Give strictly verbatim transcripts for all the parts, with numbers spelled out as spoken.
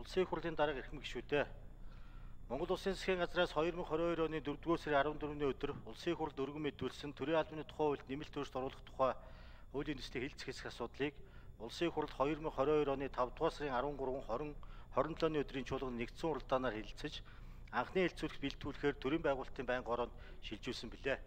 Улсын их хурлын дарга эрхэм гишүүдээ Монгол Улсын засгийн газраас хоёр мың хорин хоёр оны дөрөвдүгээр сарын арван дөрөвний өдөр Улсын их хурлд өргөн мэдүүлсэн төрийн албаны тухай хуульд нэмэлт өөрчлөлт оруулах тухай хуулийн төслийг хэлцэх хэсэг асуудлыг Улсын их хурлд хоёр мың хорин хоёр оны тавдугаар сарын арван гурав, хорин, хорин долооны өдрийн чуулганд нэгдсэн уралдаанаар хэлэлцэж анхны хэлэлцүүлэх бэлтгүүлэхээр төрийн байгуулалтын байнгын ороонд шилжүүлсэн билээ.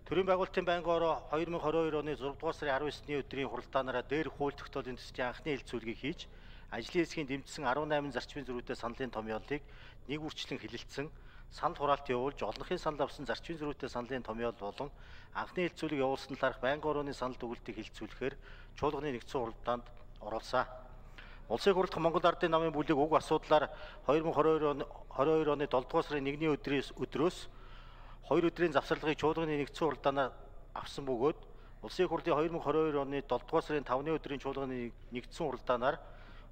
Төрийн байгуулалтын байнгын ороо хоёр мың хорин хоёр оны зургаадугаар сарын арван есний өдрийн хуралдаанаараа дээр хууль тогтоолын төслийн анхны хэлэлцүүлгийг хийж ажлын хэсгийн дэмжсэн арван намын зарчмын зөрүүтэй саналын томьёолыг нэг үрчлэн хэлэлцсэн, санал хураалт явуулж олонхын санал авсан зарчмын зөрүүтэй саналын томьёол болон анхны хэлэлцүүлэг явуулсан талаарх байнгын орооны санал дүгнэлтийг хэлэлцүүлэхээр чуулганы нэгдсэн уралдаанд оруулсан. Улсын их хурлын Монгол Ардын намын бүлэг уг асуудлаар хоёр мың хорин хоёр оны долдугаар сарын нэгний өдрөөс өдрөөс хоёр өдрийн завсарлагыг чуулганы нэгдсэн уралдаанаар авсан бөгөөд Улсын их хурлын хоёр мың хорин хоёр оны долдугаар сарын тавны өдрийн чуулганы нэгдсэн уралдаанаар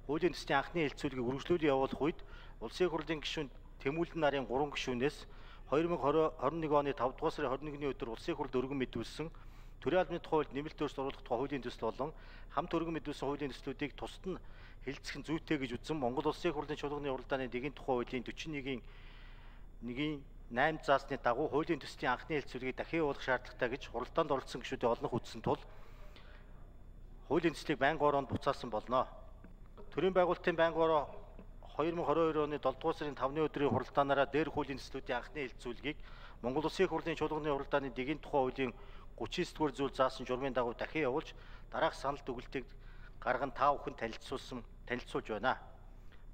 хуулийн төслийн анхны хэлэлцүүлгийг үргэлжлүүлэн явуулах үед Улсын их хурлын гишүүн Тэмүүлэн нарын гурван гишүүнээс хоёр мың хорин нэг оны тавдугаар сарын хорин нэгний өдөр Улсын их хурлд өргөн мэдүүлсэн төрийн албаны тухай хуульд нэмэлт өөрчлөлт оруулах тухай хуулийн төсөл болон хамт өргөн мэдүүлсэн хуулийн төслүүдийг тусад нь хэлэлцэх нь зүйтэй гэж үзэн Монгол Улсын их хурлын чуулганы уралдааны дэгийн тухай хуулийн дөрвөн нэгний нэгний найман заасны дагуу хуулийн төслийн анхны хэлэлцүүлгийг дахин явуулах шаардлагатай гэж хуралдаанд оролцсон гишүүдийн олонх үзсэн тул хуулийн төслийг байнгын ороонд буцаасан болно. Төрийн байгуулалтын байнгын ороо хоёр мың хорин хоёр оны долдугаар сарын тавны өдрийн хуралдаанаараа дээр хуулийн төслүүдийн анхны хэлэлцүүлгийг Монгол Улсын их хурлын чуулганы уралдааны дэгийн тухай хуулийн гучин нэгдүгээр зүйл заасан журмын дагуу дахин явуулж дараах санал дүгнэлтийг гарган та бүхэн танилцуулсан танилцуулж байна.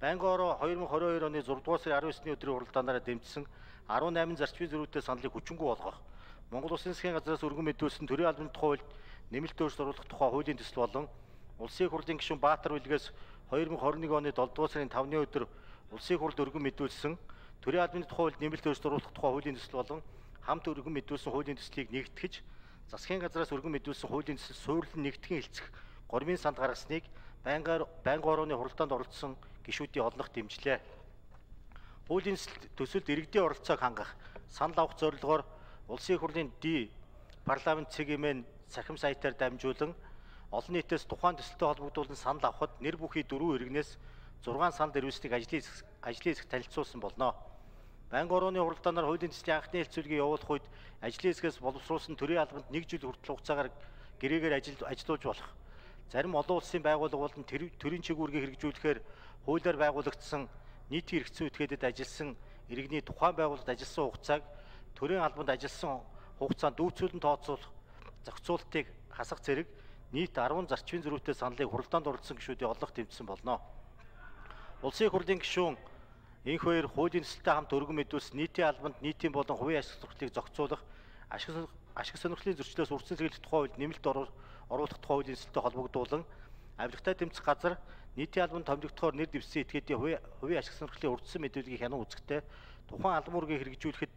Байнгын ороо хоёр мың хорин хоёр оны зургаадугаар сарын арван есний өдрийн хуралдаанаараа дэмжсэн арван намын зарчмын зөрүүтэй саналыг хүчингүй болгох, Монгол Улсын засгийн газраас өргөн мэдүүлсэн төрийн албаны тухай хуульд нэмэлт өөрчлөлт оруулах тухай хуулийн төсөл болон Улсын их хурлын гишүүн Баатар Билгээс хоёр мың хорин нэг оны долдугаар сарын тавны өдөр Улсын их хурлд өргөн мэдүүлсэн төрийн албаны тухай хуульд нэмэлт өөрчлөлт оруулах тухай хуулийн төсөл болон хамт өргөн мэдүүлсэн хуулийн төслийг нэгтгэж засгийн газраас өргөн мэдүүлсэн хуулийн төсөл суурилан нэгтгэн хэлцэх гормын санд гаргасныг байнгын байнгын орооны хуралдаанд оролцсон гишүүдийн олонх дэмжлээ. Хуулийн төсөлд иргэдийн оролцоог хангах, санал авах зорилгоор Улсын их хурлын Д парламент цэгийн цахим сайтаар дамжуулан олон нийтээс тухайн төсөлтэй холбогдуулан санал авахд нэр бүхий дөрвөн иргэнээс зургаан санал ирүүлснийг ажлын ажлын хэсэгт танилцуулсан болно. Байнгын орооны хуралдаанаар хуулийн төслийн анхны хэлэлцүүлгийг явуулах үед ажлын хэсгээс боловсруулсан төрийн албанд нэг жил хүртэл хугацаагаар гэрээгээр ажил ажиллуулж болох. Зарим олон улсын байгууллага болон төрийн чигүүргийг хэрэгжүүлэхээр хуулиар байгуулагдсан нийтийн хэрэгцээ этгээдэд ажилласан иргэний тухайн байгууллагад ажилласан хугацааг төрийн албанд ажилласан хугацаанд дүүцүүлэн тооцоолох зохицуултыг хасах зэрэг нийт арван зарчмын зөрүүтэй саналыг хуралдаанд оролцсон гишүүдийн олонх дэмжсэн болно. Улсын их хурлын гишүүн энх хоёр хуулийн төсөлтэй хамт өргөн мэдүүлсэн нийтийн албанд нийтийн болон хувийн ашиг сонирхлыг зохицуулах, ашиг ашиг сонирхлын зөрчлөөс үрдсэн сэргийлэх тухай хуульд нэмэлт оруулах тухай хуулийн төсөлтэй холбогдуулан авилгатай тэмцэх газар нийтийн албанд томилогдохоор нэр дэвссэн этгээдийн хувийн ашиг сонирхлын урдсан мэдүүлгийг хянан үзэхдээ тухайн албан үүргийг хэрэгжүүлэхэд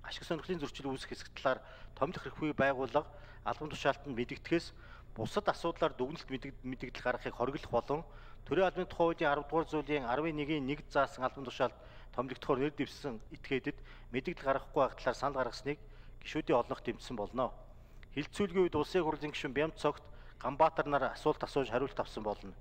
ашиг сонирхлын зөрчил үүсэх хэсэг талаар томилох хэрэггүй байгууллага албан тушаалтанд мэдэгдэхээс бусад асуудлаар дүгнэлт мэдэгдэл гаргахыг хориглох болон төрийн албаны тухай хуулийн арав дугаар зүйлийн арван нэгний нэг заасан албан тушаалд томилогдохоор нэр дэвссэн этгээдэд мэдэгдэл гаргахгүй байх талаар санал гаргасныг гишүүдийн олонх дэмжсэн болно. Хэлэлцүүлгийн үед Улсын их хурлын гишүүн Бямц цогт Ганбаатар нар асуулт асууж хариулт авсан болно.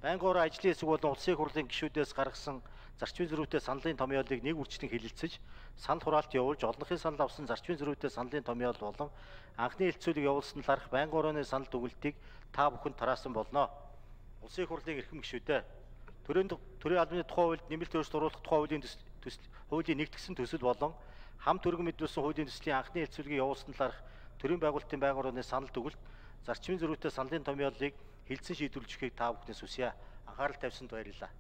Байнгын ороо ажлын хэсэг болон Улсын их хурлын гишүүдээс гаргасан зарчмын зөрүүтэй саналын томьёолыг нэг үрчлэн хэлэлцэж, санал хураалт явуулж олонхын санал авсан зарчмын зөрүүтэй саналын томьёол болон анхны хэлэлцүүлэг явуулсан талаарх байнгын орооны санал дүгнэлтийг та бүхэнд тараасан болно. Улсын их хурлын эрхэм гишүүдээ төрийн төрийн албаны тухай хуульд нэмэлт өөрчлөлт оруулах тухай хуулийн төсөл хуулийн нэгтгэсэн төсөл болон хамт өргөн мэдүүлсэн хуулийн төслийн анхны хэлэлцүүлгийг явуулсан талаарх төрийн байгуулалтын байнгын орооны санал дүгнэлт зарчмын зөрүүтэй саналын томьёолыг хэлцэн шийдвэрлэхийг та бүхнээс хүсье. Анхаарал тавьсанд баярлалаа.